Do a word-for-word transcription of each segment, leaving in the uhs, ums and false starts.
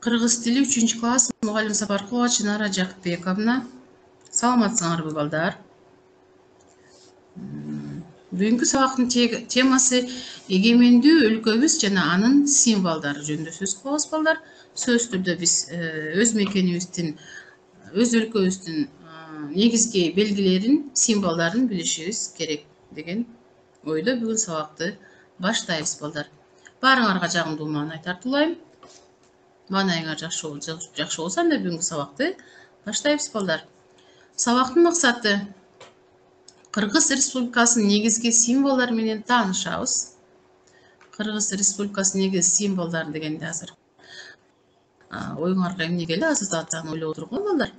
Кыргыз тили үчүнчү класс мугалим Сапаркулова Чынара Жакытбековна. Саламатсыңарбы балдар? Бүгүнкү сабактын темасы эгемендүү өлкөбүз жана анын символдору жөнүндө сөз кылабыз балдар. Сөз түрдө биз өз мекенибиздин, өз өлкөбүздүн негизги белгилерин, символдорун билишибиз керек деген ойдо бүгүн сабакты баштайбыз балдар. Баарыңарга жагымдуу маанай тартуулайм. Маанайыңар жакшы болсо, анда бүгүнкү сабакты баштайбыз балдар. Сабактын максаты Кыргыз Республикасынын негизги символдору менен таанышабыз. Кыргыз Республикасынын негизги символдору дегенде азыр оюңарга эмне келди? Ассоциацияны ойлоп отургула балдар.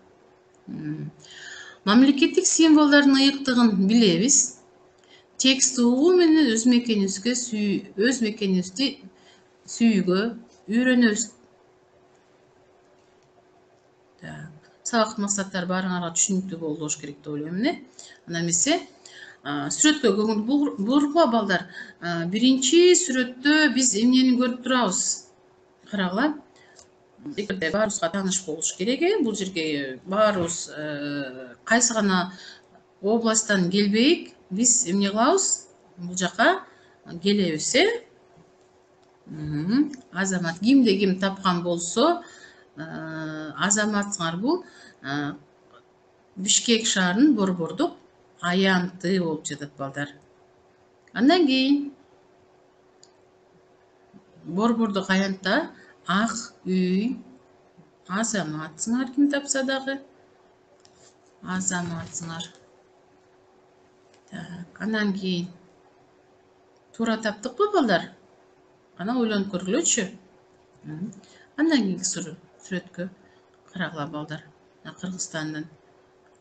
Мамлекеттик символдордун ыйыктыгын билебиз. Текст угуу менен өз мекенибизге өз мекенибизди сүйүүгө үйрөнөбүз. Сабактын максаттары баарыңарга түшүнүктүү болуш керек деп ойлойм эле. Анда эмесе сүрөткө көңүл бургула балдар. Биринчи сүрөттө биз эмнени көрүп турабыз? Карагыла. Эгерде баарыбызга тааныш болуш керек, бул жерге баарыбыз кайсы гана областтан келбейик, биз эмне кылабыз? Бул жака келебиз, э? Азамат кимде ким тапкан болсо, азаматсыңар бул Бишкек шаарынын борбордук аянты болуп жатат балдар. Андан кийин борбордук аянтта ак үй азаматсыңар, ким тапса дагы азаматсыңар. Андан кийин туура таптыкпы балдар? Анан ойлонуп көргүлөчү. Андан кийинки сүрөткө карагыла балдар. Кыргызстандын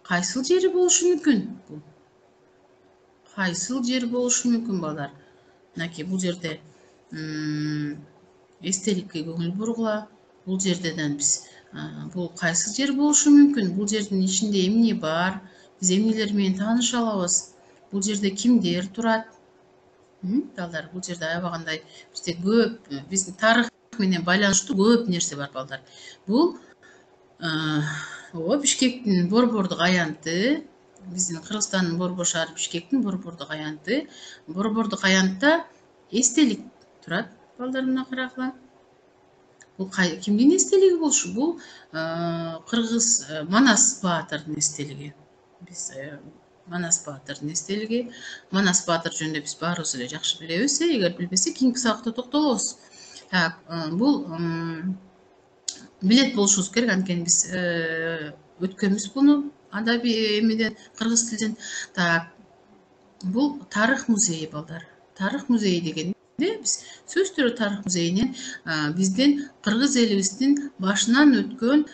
кайсыл жери болушу мүмкүн? Кайсыл жер болушу мүмкүн балдар? Мынакей бул жерде эстеликке көңүл бургула. Бул жерден биз бул кайсыл жер болушу мүмкүн? Бул жердин ичинде эмне бар? Биз эмнелер менен тааныша алабыз? Бул жерде кимдер турат? Балдар, бул жерде аябагандай бизде көп, биздин тарых менен байланыштуу көп нерсе бар балдар. Бул Бишкектин борбордук аянты, биздин Кыргызстандын борбор шаары Бишкектин борбордук аянты. Борбордук аянтта эстелик турат балдар, мына карагыла. Бул кимдин эстелиги болушу? Бул Кыргыз Манас баатырдын эстелиги. Биз Манас баатырдын эстелиги. Манас баатыр жөнүндө биз баарыбыз эле жакшы билебиз, эгер билбесек кийинки сабакта токтолобуз. Так, бул билет болушубуз керек, анткени биз өткөнбүз буну адабий эмеден, кыргыз тилден. Так, бул тарых музейи балдар. Тарых музейи дегенде биз сөз түрү тарых музейинен биздин кыргыз элибиздин башынан өткөн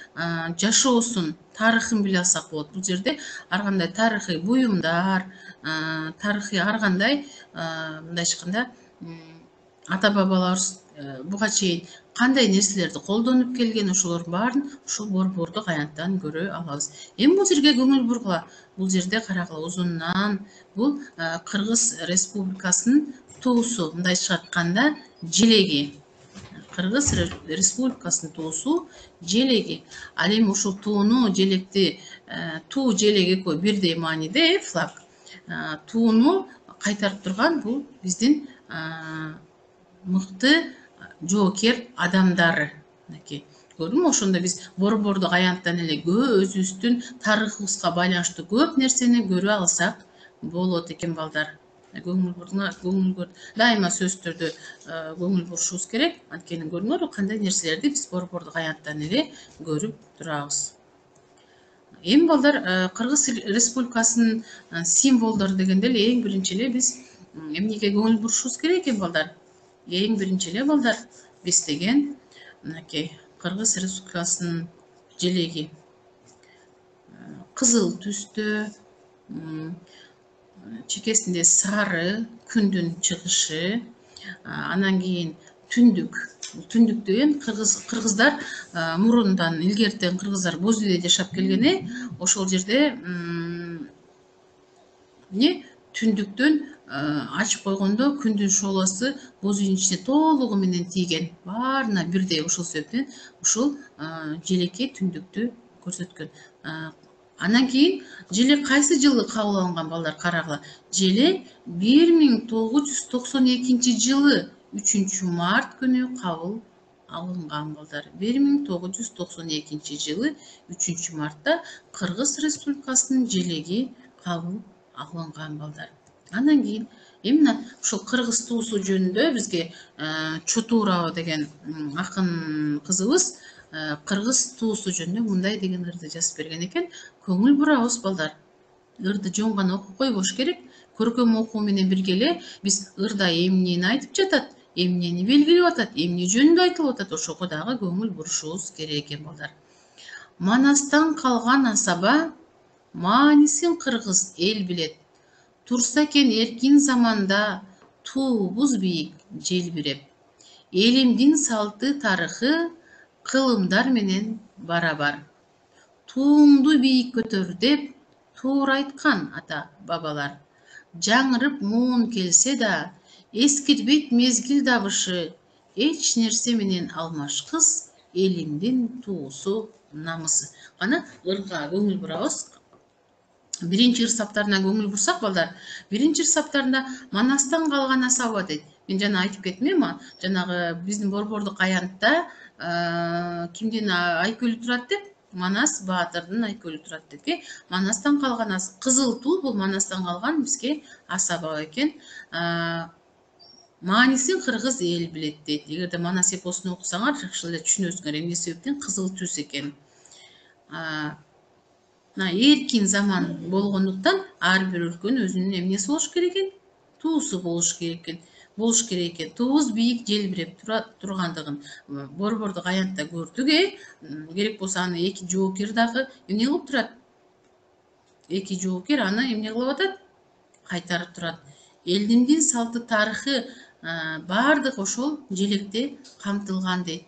жашоосун, тарыхын биле алсак болот. Бул жерде ар кандай тарыхый буюмдар, тарыхый ар кандай мындайча айтканда ата бабаларыбыз буга чейин кандай нерселерди колдонуп келген, ошолордун баарын ушул борбордук аянттан көрө алабыз. Эми бул жерге көңүл бургула. Бул жерде карагыла, узундан бул Кыргыз Республикасынын туусу, мындайча айтканда желеги. Кыргыз Республикасынын туусу желеги. Ал эми ушул тууну, желекти, туу желек экөө бирдей мааниде, флаг. Тууну кайтарып турган бул биздин мыкты жоокер адамдары. Көрдүңбү? Ошондо биз борбордук аянттан эле өзүбүздүн тарыхыбызга байланыштуу көп нерсени көрө алсак болот экен балдар. Көңүл бурдуңар, көңүл бөр. Дайыма сөз түрдө көңүл бурушубуз керек. Анткени көрдүңөрбү кандай нерселерди биз борбордук аянттан эле көрүп турабыз. Эми балдар, Кыргыз Республикасынын символдору дегенде эле эң биринчи эле биз эмнеге көңүл бурушубуз керек экен балдар? Эң биринчи эле балдар, биз деген мынакей Кыргыз Республикасынын желеги кызыл түстө, чекесинде сары күндүн чыгышы, анан кийин түндүк. Түндүк деген кыргыздар мурундан илгертен кыргыздар боз үйдө жашап келген, ошол жерде эмне түндүктөн ачып койгондо күндүн шоолосу бузун ичине толугу менен тийген, баарына бирдей. Ошол себептен ушул желекке түндүктү көрсөткөн. Андан кийин желек кайсы жылы кабыл алынган балдар, карагыла. Желек бир миң тогуз жүз токсон экинчи жылы үчүнчү март күнү кабыл алынган балдар. бир миң тогуз жүз токсон экинчи жылы үчүнчү мартта Кыргыз Республикасынын желеги кабыл алынган балдар. Андан кийин эми мына ушул кыргыз туусу жөнүндө бизге Чотурова деген акын кызыбыз кыргыз туусу жөнүндө мындай деген ырды жазып берген экен. Көңүл бурабыз балдар. Ырды жөн гана окуп койбош керек. Көркөм окуу менен бирге эле биз ырда эмнени айтып жатат, эмнени белгилеп атат, эмне жөнүндө айтылып атат, ошого дагы көңүл бурушубуз керек экен балдар. Манастан калган асаба, маанисин кыргыз эл билет. Турса экен эркин заманда, туубуз бийик желбиреп. Элимдин салты тарыхы кылымдар менен барабар. Туумду бийик көтөр деп туура айткан ата бабалар. Жаңырып муун келсе да, эскирбейт мезгил дабышы. Эч нерсе менен алмашкыс, элимдин туусу намысы. Кана ырга көңүл бурабыз. Биринчи ыр саптарына көңүл бурсак балдар, биринчи ыр саптарында манастан калган асаба дейт. Мен жана айтып кеттим эми, жанагы биздин борбордук аянтта кимдин айкөлү турат деп, Манас баатырдын айкөлү турат деп. Манастан калган ас, кызыл туу бул манастан калган бизге асаба экен. Маанисин кыргыз эл билет дейт. Эгерде Манас эпосун окусаңар, жакшы эле түшүнөсүңөр эмне себептен кызыл түс экен. Эркин заман болгондуктан ар бир өлкөнүн өзүнүн эмнеси болуш керек экен? Туусу болуш керек экен. Болуш керек экен. Туубуз бийик желбиреп тургандыгын борбордук аянтта көрдүк, э. Керек болсо аны эки жоокер дагы эмне кылып турат? Эки жоокер аны эмне кылып атат? Кайтарып турат. Элдин салты тарыхы баардык ошол желекте камтылган дейт.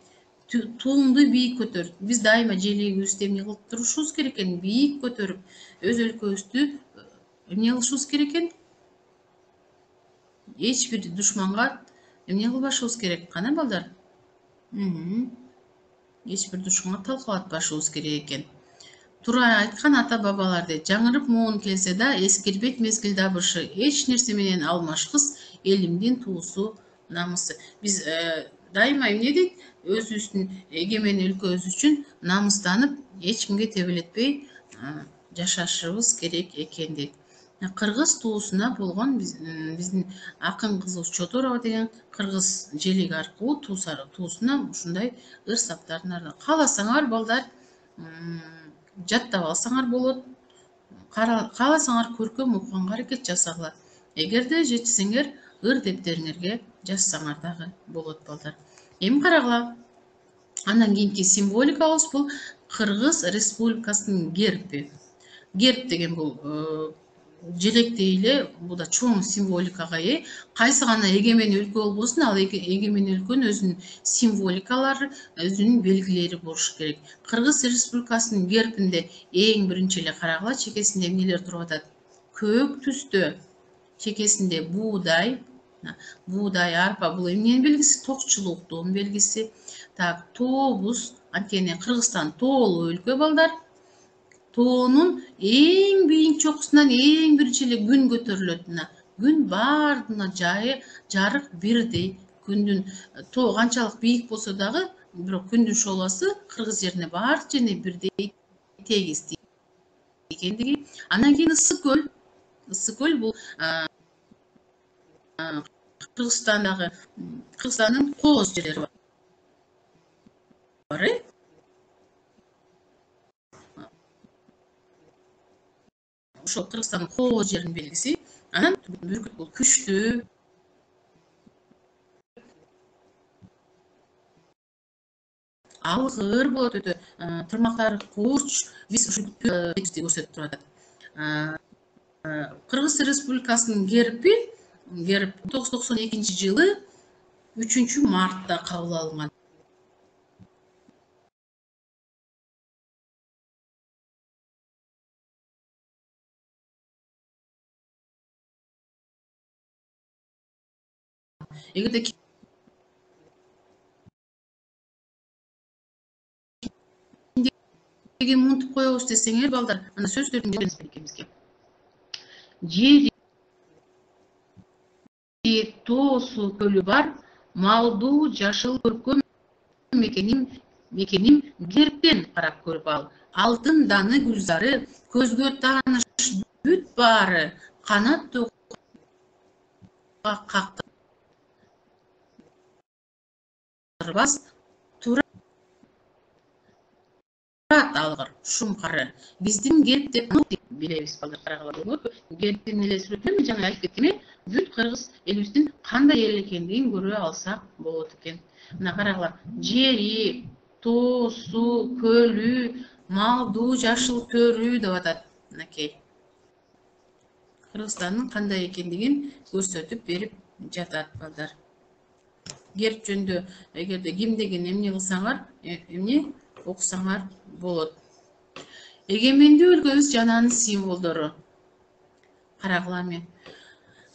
Туумду бийик көтөр. Биз дайыма желегибизди эмне кылып турушубуз керек экен? Бийик көтөрүп, өз өлкөбүздү эмне кылышыбыз керек экен? Эч бир душманга эмне кылбашыбыз керек? Кана балдар? Эч бир душманга талкалатпашыбыз керек экен. Туура айткан ата бабалар дейт. Жаңырып муун келсе да, эскирбейт мезгил дабышы. Эч нерсе менен алмашкыс, элимдин туусу намысы. Биз дайыма эмне дейт? Өзүбүздүн эгемен өлкөбүз үчүн намыстанып, эч кимге тебелетпей жашашыбыз керек экен дейт. Кыргыз туусуна болгон биздин акын кызыбыз Чотурова деген кыргыз желеги аркылуу туусуна ушундай ыр саптарын кааласаңар балдар жаттап алсаңар болот. Кааласаңар көркөм окуганга аракет жасагыла. Эгерде жетсеңер, ыр дептериңерге жазсаңар дагы болот балдар. Эми карагыла. Андан кийинки символикабыз бул Кыргыз Республикасынын герби. Герб деген бул желектей эле, бул да чоң символикага ээ. Кайсы гана эгемен өлкө болбосун, ал эгемен өлкөнүн өзүнүн символикалары, өзүнүн белгилери болуш керек. Кыргыз Республикасынын гербинде эң биринчи эле карагыла, чекесинде эмнелер туруп атат? Көк түстө, чекесинде буудай, буудай, арпа, бул эмненин белгиси? Токчулуктун белгиси. Так, тообуз, анткени Кыргызстан тоолуу өлкө балдар. Тоонун эң бийик чокусунан эң биринчи эле күн көтөрүлөт. Күн баардыгына жайы жарык бирдей. Күндүн тоо канчалык бийик болсо дагы, бирок күндүн шоолосу кыргыз жерине баардык жерине бирдей тегиз экендиги. Андан кийин Ысык көл. Ысык көл бул Кыргызстандагы Кыргызстандын кооз жерлери бар. Ошол Кыргызстандын кооз жеринин белгиси. Анан бүркүт бул күчтүү. Алгыр болот өтө. Тырмактары курч. Биз ушул тегизди көрсөтүп турат. Кыргыз Республикасынын герби, герб миң тогуз жүз токсон экинчи жылы үчүнчү мартта кабыл алынган. Эгерде кимдигин унутуп коебуз десеңер балдар, анда сөздөрдүн экенибизге. Жери, тоосу, көлү бар, малдуу, жашыл көркөм мекеним мекеним герптен карап көрүп ал. Алтын даны гүлзары, көзгө тааныш бүт баары, канаттуу кактырбас турат алгыр шум кары. Биздин герп деп билебиз балдар, карагыла. Герптин эле сүрөтүнөн жаңы айтып кеткеме, бүт кыргыз элибиздин кандай эл экендигин көрө алсак болот экен. Мына карагыла, жери, тоосу, көлү, малдуу, жашыл төрү деп атат. Мынакей. Кыргызстандын кандай экендигин көрсөтүп берип жатат балдар. Герп жөнүндө эгерде кимдигин эмне кылсаңар, эмне окусаңар болот. Эгемендүү өлкөбүз жананын символдору. Карагыла мен.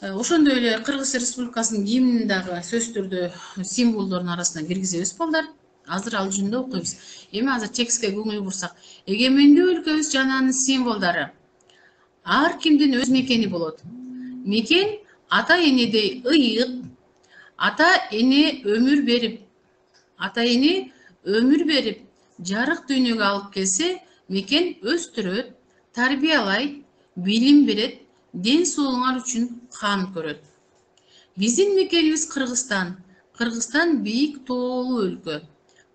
Ошондой эле Кыргыз Республикасынын гимнин дагы сөздөрдө символдордун арасына киргизебиз балдар. Азыр ал жөнүндө окуйбуз. Эми азыр текстке көңүл бурсак, эгемендүү өлкөбүз жананын символдору. Ар кимдин өз мекени болот. Мекен ата энедей ыйык, ата эне өмүр берип, ата эне өмүр берип, жарык дүйнөгө алып келсе, мекен өстүрөт, тарбиялайт, билим берет, ден соолугуңар үчүн кам көрөт. Биздин мекенибиз Кыргызстан. Кыргызстан бийик тоолуу өлкө.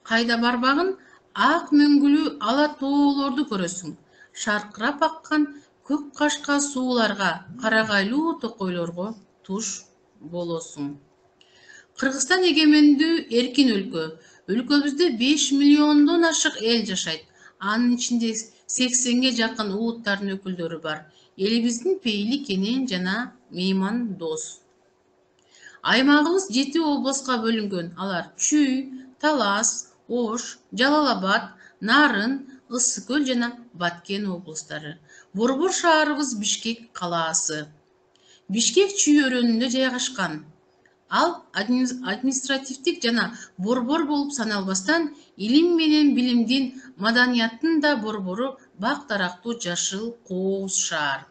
Кайда барбагын ак мөңгүлүү ала тоолорду көрөсүң. Шаркырап аккан көк кашка сууларга, карагайлуу токойлорго туш болосуң. Кыргызстан эгемендүү эркин өлкө. Өлкөбүздө беш миллиондон ашык эл жашайт. Анын ичинде сексенге жакын улуттардын өкүлдөрү бар. Элибиздин пейили кенен жана мейман дос. Аймагыбыз жети областка бөлүнгөн. Алар Чүй, Талас, Ош, Жалал Абад, Нарын, Ысык көл жана Баткен облустары. Борбор шаарыбыз Бишкек калаасы. Бишкек Чүй өрөөнүндө жайгашкан. Ал административдик жана борбор болуп саналбастан, илим менен билимдин, маданияттын да борбору бак дарактуу жашыл кооз шаар.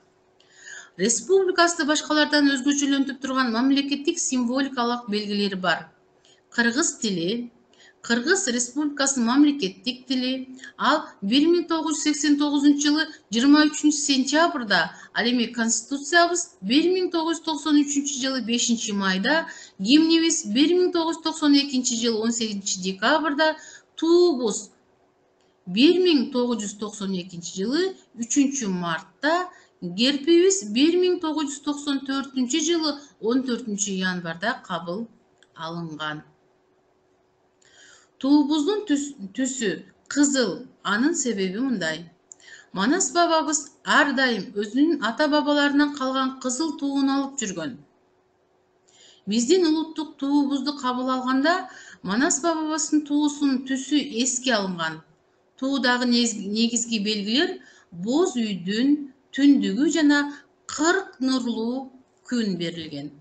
Республикасында башкалардан өзгөчөлөнтүп турган мамлекеттик символикалык белгилери бар. Кыргыз тили, Кыргыз Республикасынын мамлекеттик тили. Ал бир миң тогуз жүз сексен тогузунчу жылы жыйырма үчүнчү сентябрда, ал эми Конституциябыз бир миң тогуз жүз токсон үчүнчү жылы бешинчи майда, гимнибиз бир миң тогуз жүз токсон экинчи жылы он сегизинчи декабрда, туубуз бир миң тогуз жүз токсон экинчи жылы үчүнчү мартта, герпибиз бир миң тогуз жүз токсон төртүнчү жылы он төртүнчү январда кабыл алынган. Туубуздун түсү кызыл, анын себеби мындай. Манас бабабыз ар дайым өзүнүн ата бабаларынан калган кызыл туун алып жүргөн. Биздин улуттук туубузду кабыл алганда, Манас бабабыздын туусунун түсү эске алынган. Туудагы негизги белгилер боз үйдүн түндүгү жана кырк нурлуу күн берилген.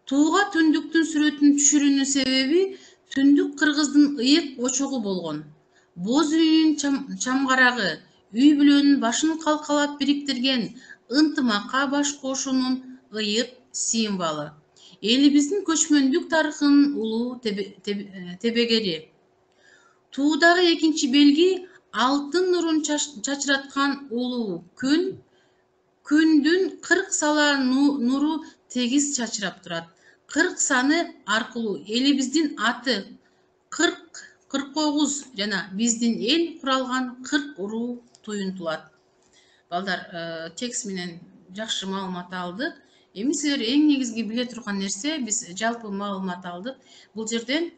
Тууга түндүктүн сүрөтүн түшүрүүнүн себеби түндүк кыргыздын ыйык очогу болгон. Боз үйүнүн чамгарагы, үй бүлөнүн башын калкалап бириктирген, ынтымакка баш кошуунун ыйык символу. Элибиздин көчмөндүк тарыхынын улуу тебегери. Туудагы экинчи белги алтын нурун чачыраткан улуу күн. Күндүн кырк сала нуру тегиз чачырап турат. кырк саны аркылуу элибиздин аты кырк, кырк тогуз жана биздин эл куралган кырк уруу туюнтулат. Балдар, текст менен жакшы маалымат алдык. Эми силер эң негизги биле турган нерсе, биз жалпы маалымат алдык. Бул жерден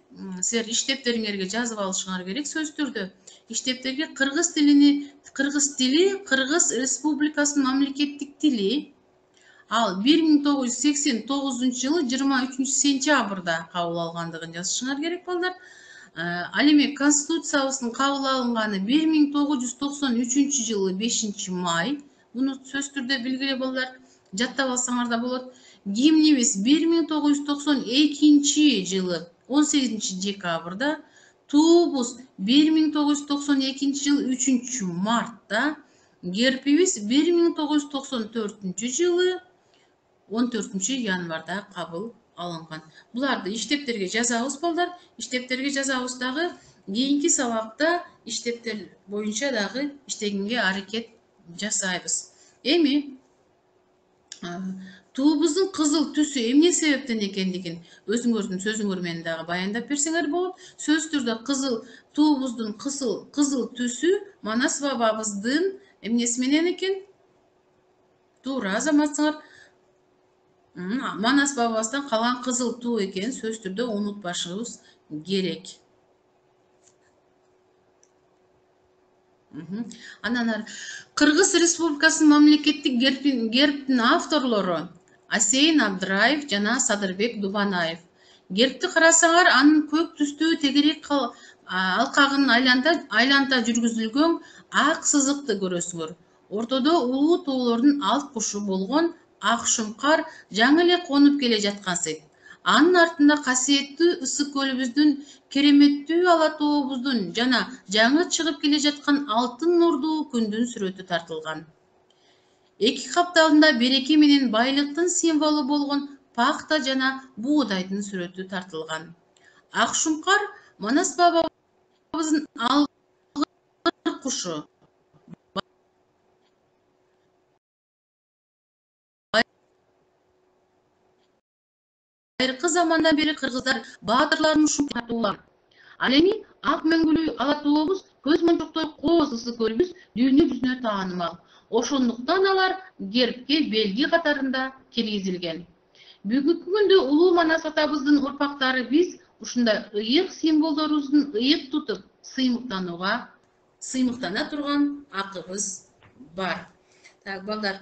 силер иштептериңерге жазып алышыңар керек сөздөрдө. Иштептерге кыргыз тилини, кыргыз тили Кыргыз Республикасынын мамлекеттик тили. Ал бир миң тогуз жүз сексен тогузунчу жылы жыйырма үчүнчү сентябрда кабыл алгандыгын жазышыңар керек балдар. Ал эми Конституциябыздын кабыл алынганы бир миң тогуз жүз токсон үчүнчү жылы бешинчи май. Муну сөздөрдө билгиле балдар. жаттап алсаңар да болот. Гимнибиз бир миң тогуз жүз токсон экинчи жылы он сегизинчи декабрда, туубуз бир миң тогуз жүз токсон экинчи жылы үчүнчү мартта, гербибиз бир миң тогуз жүз токсон төртүнчү жылы он төртүнчү январда кабыл алынган. Буларды иштептерге жазабыз балдар. Иштептерге жазабыз дагы кийинки сабакта иштептер боюнча дагы иштегенге аракет жасайбыз. Эми туубуздун кызыл түсү эмне себептен экендигин өзүңөрдүн сөзүңөр менен дагы баяндап берсеңер болот. Сөз түрдө кызыл туубуздун кызыл кызыл түсү Манас бабабыздын эмнеси менен экен? Туура азаматсыңар. Манас бабабыздан калган кызыл туу экенин сөз түрдө унутпашыбыз керек. Андан ары Кыргыз Республикасынын мамлекеттик гербинин авторлору Асейин Абдраев жана Садырбек Дубанаев. Гербти карасаңар, анын көк түстүү тегерек алкагынын айланта жүргүзүлгөн ак сызыкты көрөсүңөр. Ортодо улуу тоолордун алт кушу болгон ак шумкар жаңы эле конуп келе жаткансыйт. Анын артында касиеттүү ысык көлүбүздүн, кереметтүү ала тообуздун жана жаңы чыгып келе жаткан алтын нурдуу күндүн сүрөтү тартылган. Эки капталында береке менен байлыктын символу болгон пахта жана буудайдын сүрөтү тартылган. Ак шумкар Манас бабабыздын алгыр кушу. Байыркы замандан бери кыргыздар баатырларын ушундай. Ал эми ак мөңгүлүү ала тообуз, көз мончоктой кооз ысык көлүбүз дүйнө жүзүнө таанымал. Ошондуктан алар гербке белги катарында киргизилген. Бүгүнкү күндө улуу Манас атабыздын урпактары биз ушундай ыйык символдорубуздун ыйык тутуп, сыймыктанууга, сыймыктана турган акыбыз бар. Так, балдар,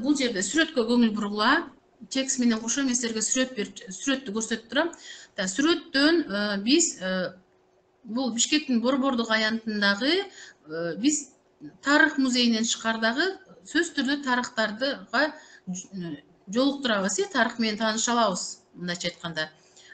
бул жерде сүрөткө көңүл бургула. Текст менен кошо мен силерге сүрөт берип, сүрөттү көрсөтүп турам. Так, сүрөттөн биз бул Бишкектин Борбордук аянтындагы биз тарых музейинен чыккардагы сөз түрдө тарыхтардыга жолуктурабыз, тарых менен тааныша алабыз. Мындайча айтканда,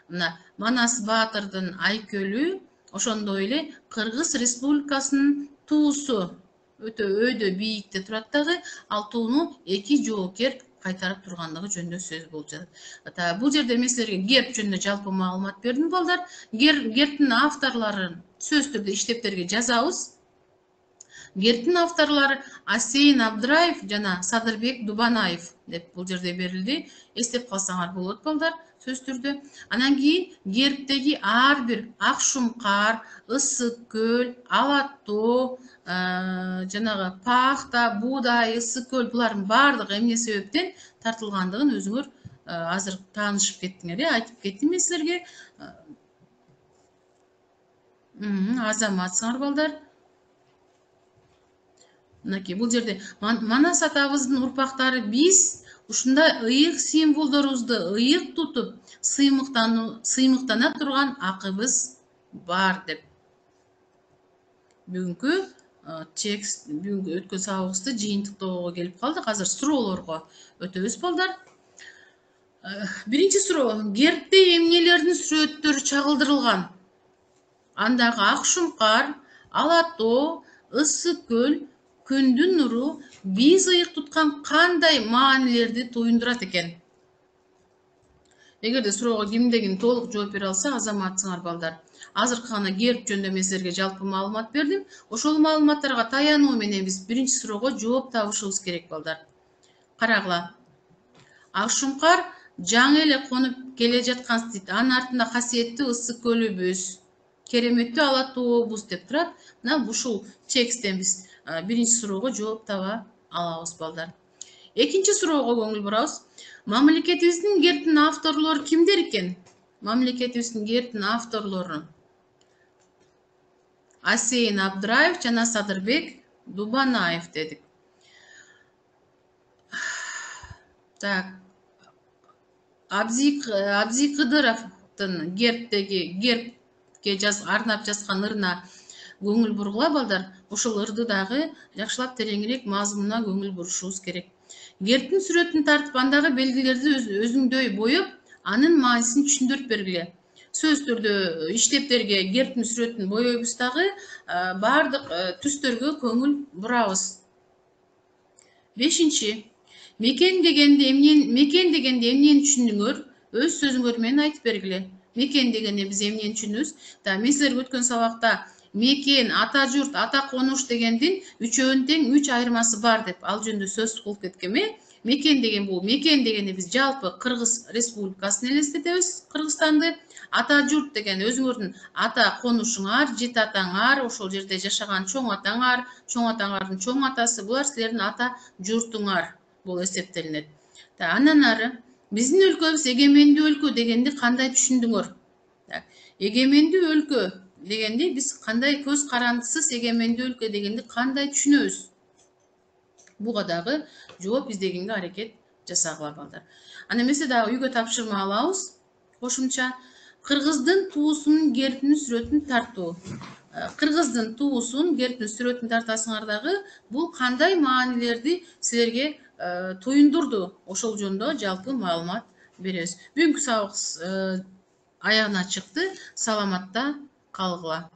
мына Манас баатырдын айкөлү, ошондой эле Кыргыз Республикасынын туусу өтө өйдө бийикте турат дагы, ал тууну эки жоокер кайтарып тургандыгы жөнүндө сөз болуп жатат. Бул жерде мен силерге герб жөнүндө жалпы маалымат бердим балдар. Гербтин авторлорун сөз түрдө иштептерге жазабыз. Гербтин авторлору Асейин Абдраев жана Садырбек Дубанаев деп бул жерде берилди. Эстеп калсаңар болот балдар сөз түрдө. Анан кийин гербтеги ар бир ак шумкар, ысык көл, ала тоо, жанагы пахта, буудай, ысык көл булардын баардыгы эмне себептен тартылгандыгын өзүңөр азыр таанышып кеттиңер, айтып кеттим мен силерге. Азаматсыңар балдар. Мынакей бул жерде Манас атабыздын урпактары биз ушундай ыйык символдорубузду ыйык тутуп, сыймыктана турган акыбыз бар деп. Бүгүнкү текст, бүгүнкү өткөн сабагыбызды жыйынтыктоого келип калдык. Азыр суроолорго өтөбүз балдар. Биринчи суроо: гербте эмнелердин сүрөттөрү чагылдырылган? Андагы ак шумкар, ала тоо, ысык көл, күндүн нуру биз ыйык туткан кандай маанилерди туюндурат экен? Эгерде суроого кимдегин толук жооп бере алса, азаматсыңар балдар. Азыркы гана герб жөнүндө мен силерге жалпы маалымат бердим. Ошол маалыматтарга таянуу менен биз биринчи суроого жооп табышыбыз керек балдар. Карагыла. Ак шумкар жаңы эле конуп келе жаткан дейт. Анын артында касиеттүү ысык көлүбүз, кереметтүү ала тообуз деп турат. Мына ушул тексттен биз биринчи суроого жооп таба алабыз балдар. Экинчи суроого көңүл бурабыз. Мамлекетибиздин гербтин авторлору кимдер экен? Мамлекетибиздин гербтин авторлору Асейин Абдраев жана Садырбек Дубанаев дедик. Так. Абзи Кыдыровдун гербтеги гербке жаз арнап жазган ырына көңүл бургула балдар. Ошол ырды дагы жакшылап тереңирээк мазмунуна көңүл бурушубуз керек. Гербтин сүрөтүн тартып, андагы белгилерди өзүңдөй боеп, анын маанисин түшүндүрүп бергиле. Сөз түрдө иштептерге гербтин сүрөтүн бойойбуз дагы баардык түстөргө көңүл бурабыз. Бешинчи. Мекен дегенде эмнени мекен дегенде эмнени түшүндүңөр? Өз сөзүңөр менен айтып бергиле. Мекен дегенде биз эмнени түшүнөбүз? Да, мен силерге өткөн сабакта мекен, ата журт, ата конуш дегендин үчөөнүн тең үч айырмасы бар деп ал жөнүндө сөз кылып кеткем. Мекен деген бул, мекен дегенде биз жалпы Кыргыз Республикасын элестетебиз, Кыргызстанды. Ата журт деген өзүңөрдүн ата конушуңар, жети атаңар, ошол жерде жашаган чоң атаңар, чоң атаңардын чоң атасы, булар силердин ата журтуңар болуп эсептелинет. Андан ары биздин өлкөбүз эгемендүү өлкө дегенди кандай түшүндүңөр? Эгемендүү өлкө дегенди биз кандай, көз карандысыз эгемендүү өлкө дегенди кандай түшүнөбүз? Буга дагы жооп издегенге аракет жасагыла балдар. Ана эмесе дагы үйгө тапшырма алабыз. Кошумча Кыргыздын туусунун гербтин сүрөтүн тартуу. Кыргыздын туусун гербтин сүрөтүн тартасыңар дагы, бул кандай маанилерди силерге туюндурду? Ошол жөнүндө жалпы маалымат беребиз. Бүгүнкү сабак аягына чыкты. Саламатта калгыла.